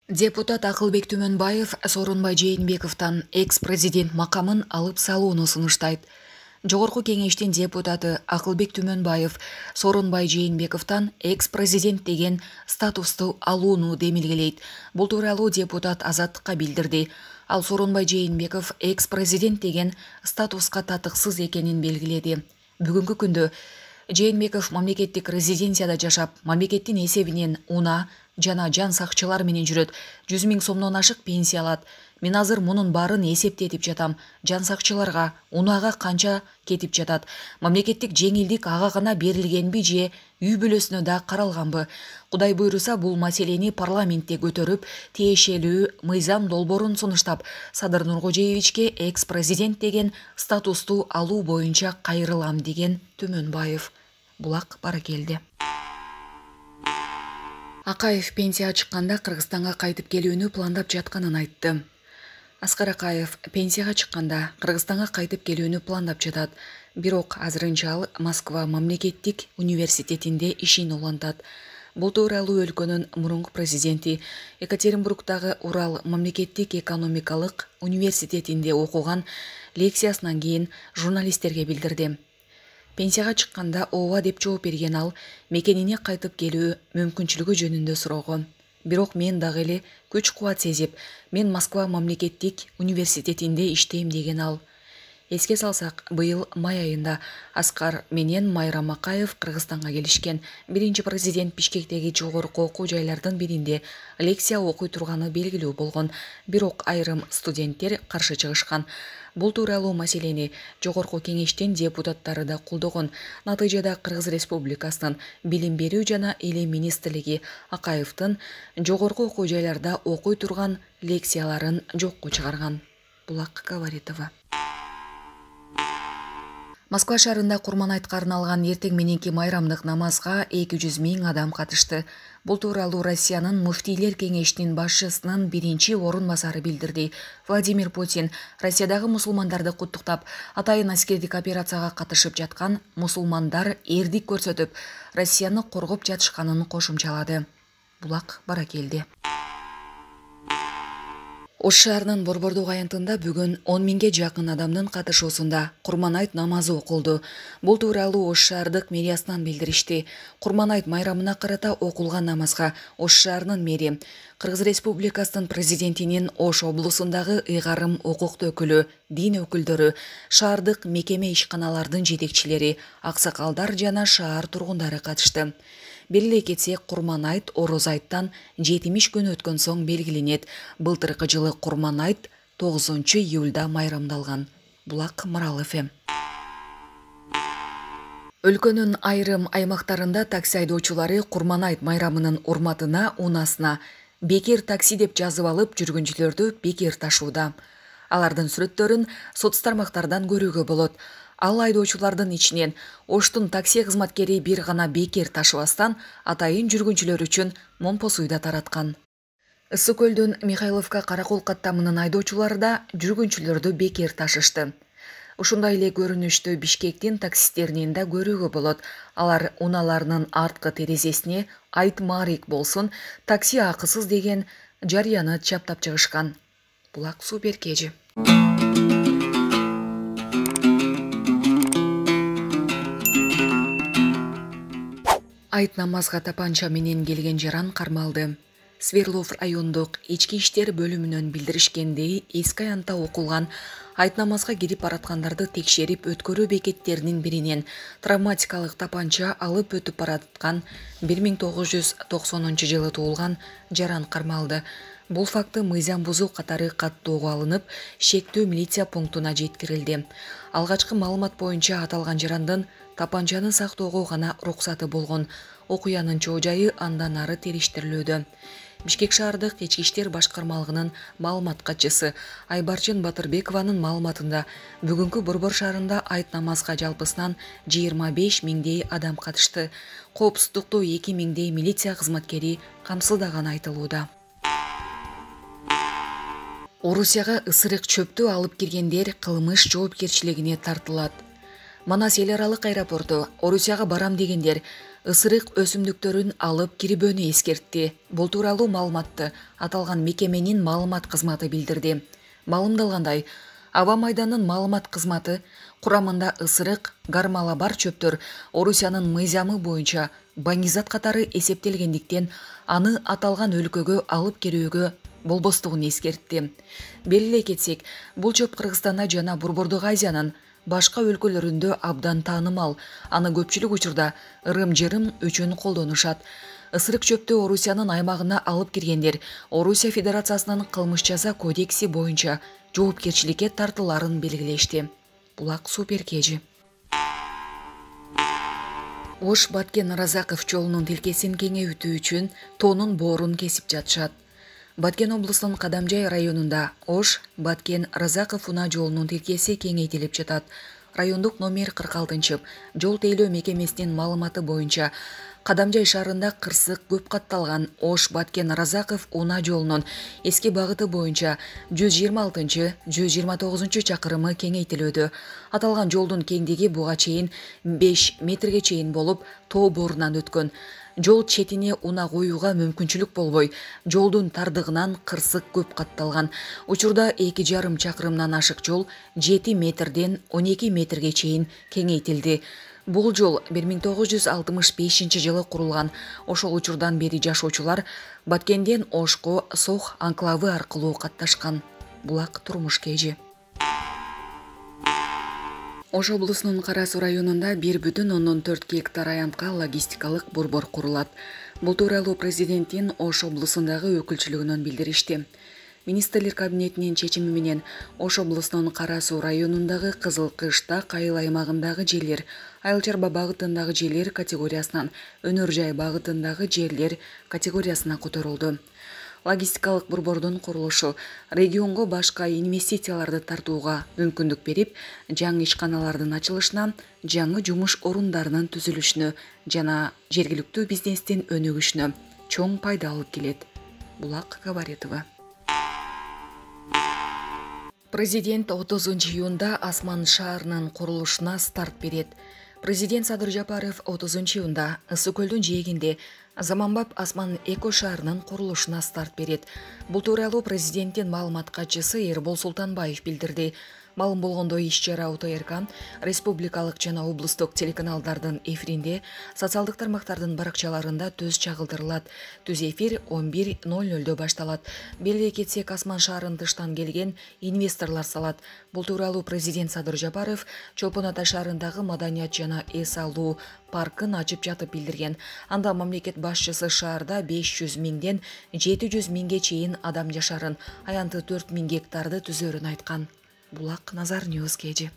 Депутат Акылбек Түмөнбаев Сооронбай Жээнбековдон экс-президент макамын алып салууну сунуштайт. Жогорку кеңештин депутаты Акылбек Түмөнбаев Сооронбай Жээнбековдон экс-президент деген статусту алууну демилгелейт. Бул тууралуу депутат Азаттыкка билдирди. Ал Сооронбай Жээнбеков экс-президент деген статуска татыксыз экенин белгиледи. Бүгүнкү күндө Жээнбеков мамлекеттик резиденцияда жашап, мамлекеттин эсебинен унаа жана жан сакчылар менен жүрөт. 100 000 сомдон ашык пенсия алат. Мен азыр мунун баарын эсептетип жатам. Жан сакчыларга, унаага канча кетип жатат? Мамлекеттик жеңилдик ага гана берилгенби же үй бүлөсүнө да каралганбы? Кудай буйруса бул маселени парламентте көтөрүп, тиешелүү мыйзам долбоорун сунуштап, Садыр Нуркожоевичке экс-президент деген статусту алуу боюнча кайрылам деген Түмөнбаев. Булак Баракелди. Акаев пенсияга чыкканда Кыргызстанга кайтып келүүнү пландап жатканын айтты. Аскар Акаев пенсияга чыкканда Кыргызстанга кайтып келүүнү пландап жатат. Бирок азырынча ал Москва мамлекеттик университетинде ишин улантат. Бул тууралуу өлкөнүн мурунку президенти Екатеринбургдагы Урал мамлекеттик экономикалык университетинде окуган лекциясынан кийин журналисттерге билдирди. Пенсияга чыкканда ооба деп жооп берген ал мекенине кайтып келүү мүмкүнчүлүгү жөнүндө суроого. Бирок мен дагы эле күч-кубат сезип, мен Москва мамлекеттик университетинде иштейм деген ал. Эске салсак, быйыл май айында Аскар менен Майрам Акаев Кыргызстанга келишкен. Биринчи президент Бишкектеги жогорку окуу жайлардын биринде лекция окуй турганы белгилүү болгон. Бирок айрым студенттер каршы чыгышкан. Бул тууралуу маселени жогорку кеңештин депутаттары да колдогон. Натыйжада Кыргыз Республикасынын билим берүү жана илим министрлиги Акаевдин жогорку окуу жайларда окуй турган лекцияларын жокко чыгарган. Булак Гаваритова. Москва шаарында Курманайтка арналган эртең мененки майрамдык намазга 200 000 адам катышты. Бул тууралуу Россиянын муфтийлер кеңешинин башчысынын биринчи орун басары билдирди. Владимир Путин Россиядагы мусулмандарды куттуктап, атайын аскердик операцияга катышып жаткан мусулмандар эрдик көрсөтүп, Россияны коргоп жатышканын кошумчалады. Булак Баракелди. Ош шаарынын Борбордук аянтында бүгүн 10 000ге жакын адамдын катышуусунда Курманайт намазы окулду. Бул тууралуу Ош шаардык мэриясынан билдиришти. Курманайт майрамына карата окулган намазга Ош шаарынын мэри, Кыргыз Республикасынын президентинин Ош облусундагы ыйгарым укуктуу өкүлү, дин өкүлдөрү, шаардык мекеме ишканалардын жетекчилери, аксакалдар жана шаар тургундары катышты. Белгилей кетсек, Курманайт Орозайттан 70 күн өткөн соң белгиленет. Былтыркы жылы Курманайт 9 июлда майрамдалган. Булак Мыралов. Өлкөнүн айрым аймактарында такси айдоочулары Курманайт майрамынын урматына унасына бекер такси деп жазып алып жүргүнчүлөрдү бекер ташууда. Алардын сүрөттөрүн соц тармактардан көрүүгө болот. Ал айдоочулардын ичинен Оштун такси кызматкери бир гана бекер ташыбастан атайын жүргүнчүлөр үчүн момпосуй да тараткан. Ысык көлдүн Михайловка Каракол каттамынын айдоочулары да жүргүнчүлөрдү бекер ташышты. Ушундай эле көрүнүштү Бишкектин таксисттеринен да көрүүгө болот. Алар унааларынын арткы терезесине айт маарик болсун, такси акысыз деген жарыяны чаптап чыгышкан. Булак Суперкежи. Айт намазга тапанча менен келген жаран кармалды. Сверлов райондук ички иштер бөлүмүнөн билдиришкендей, эски аянтта окулган айт намазга кирип бараткандарды текшерип өткөрүү бекеттеринин биринен травматикалык тапанча алып өтүп бараткан 1990 жылы туулган жаран кармалды. Бул факты мыйзам бузуу катары каттоого алынып, шектүү милиция пунктуна жеткирилди. Алгачкы маалымат боюнча аталган жарандын тапанчаны сактоого гана уруксаты болгон. Окуянын чоо жайы андан ары териштирилүүдө. Бишкек шаардык ички иштер башкармалыгынын маалымат катчысы Айбарчын Батырбекованын маалыматында бүгүнкү Борбор шаарында айт намазга жалпысынан 25 000 адам катышты. Коопсуздукту 2 000 милиция кызматкери камсыздаганы айтылууда. Орусияга ысырык чөптү алып киргендер кылмыш жоопкерчилигине тартылат. Манас эл аралык аэропорту Орусияга барам дегендер ысырык өсүмдүктөрүн алып кирбөөнү эскертти. Бул тууралуу маалыматты аталган мекеменин маалымат кызматы билдирди. Маалымдалгандай, аба майданынын маалымат кызматы курамында ысырык, гармала бар чөптөр Орусиянын мыйзамы боюнча баңгизат катары эсептелгендиктен аны аталган өлкөгө алып кирүүгө болбостугун эскертти. Белгилей кетсек, бул чөп Кыргызстанда жана Борбордук Азиянын башка өлкөлөрүндө абдан таанымал. Аны көпчүлүк учурда ырым-жырым үчүн колдонушат. Ысырык чөптү Орусиянын аймагына алып киргендер Орусия Федерациясынын кылмыш жаза кодекси боюнча жоопкерчиликке тартыларын белгилешти. Булак Суперкежи. Ош Баткен Разаков жолунун тилкесин кеңейтүү үчүн тоонун боорун кесип жатышат. Баткен облусунун Кадамжай районунда Ош Баткен Разаков унаа жолунун тилкеси кеңейтилип жатат. Райондук номер 46 жол тейлөө мекемесинин маалыматы боюнча Кадамжай шаарында кырсык көп катталган Ош Баткен Разаков унаа жолунун эски багыты боюнча 126-129 чакырымы кеңейтилүүдө. Аталган жолдун кеңдиги буга чейин 5 метрге чейин болуп, тоо боорунан өткөн. Жол четине унаа коюуга мүмкүнчүлүк болбой, жолдун тардыгынан кырсык көп катталган. Учурда 2,5 чакырымдан ашык жол 7 метрден 12 метрге чейин кеңейтилди. Бул жол 1965 жылы курулган. Ошол учурдан бери жашоочулар Баткенден Ошко Сох анклавы аркылуу катташкан. Булак Турмуш Кежи. Ош облусунун Кара Суу районунда 1,4 гектар аянтка логистикалык борбор курулат. Бул тууралуу президенттин Ош облусундагы өкүлчүлүгүнөн билдиришти. Министрлер кабинетинин чечими менен Ош облусунун Кара Суу районундагы Кызыл Кыштак айыл аймагындагы жерлер, Айыл чарба багытындагы жерлер категориясынан Өнөр жай багытындагы жерлер категориясына которулду. Логистикалык борбордун курулушу регионго башка инвестицияларды тартууга мүмкүндүк берип, жаңы ишканалардын ачылышына, жаңы жумуш орундарынын түзүлүшүнө жана жергиликтүү бизнестин өнүгүшүнө чоң пайда алып келет. Булак Габаретова. Президент 30 июнда Асман шаарынын курулушуна старт берет. Президент Садыр Жапаров 30 июнда Ысык көлдүн жээгинде Заманбап Асман эко шаарынын курулушуна старт берет. Бул тууралуу президенттин маалымат катчысы Эрбол Султанбаев билдирди. Маалым болгондой, иш-чара ОТРК, республикалык жана облустук телеканалдардын эфиринде, социалдык тармактардын баракчаларында төз чагылдырылат. Түз эфир 11:00 башталат. Белгилей кетсек, Асман шаарын тыштан келген инвесторлор салат. Бул тууралуу президент Садыр Жапаров Чолпон Ата шаарындагы маданият жана эс алуу паркын ачып жатып билдирген. Анда мамлекет башчысы шаарда 500 миңден 700 миңге чейин адам жашарын, аянты 4 миң гектарды түзөрүн айткан. Булак Назар Ньюс Кежи.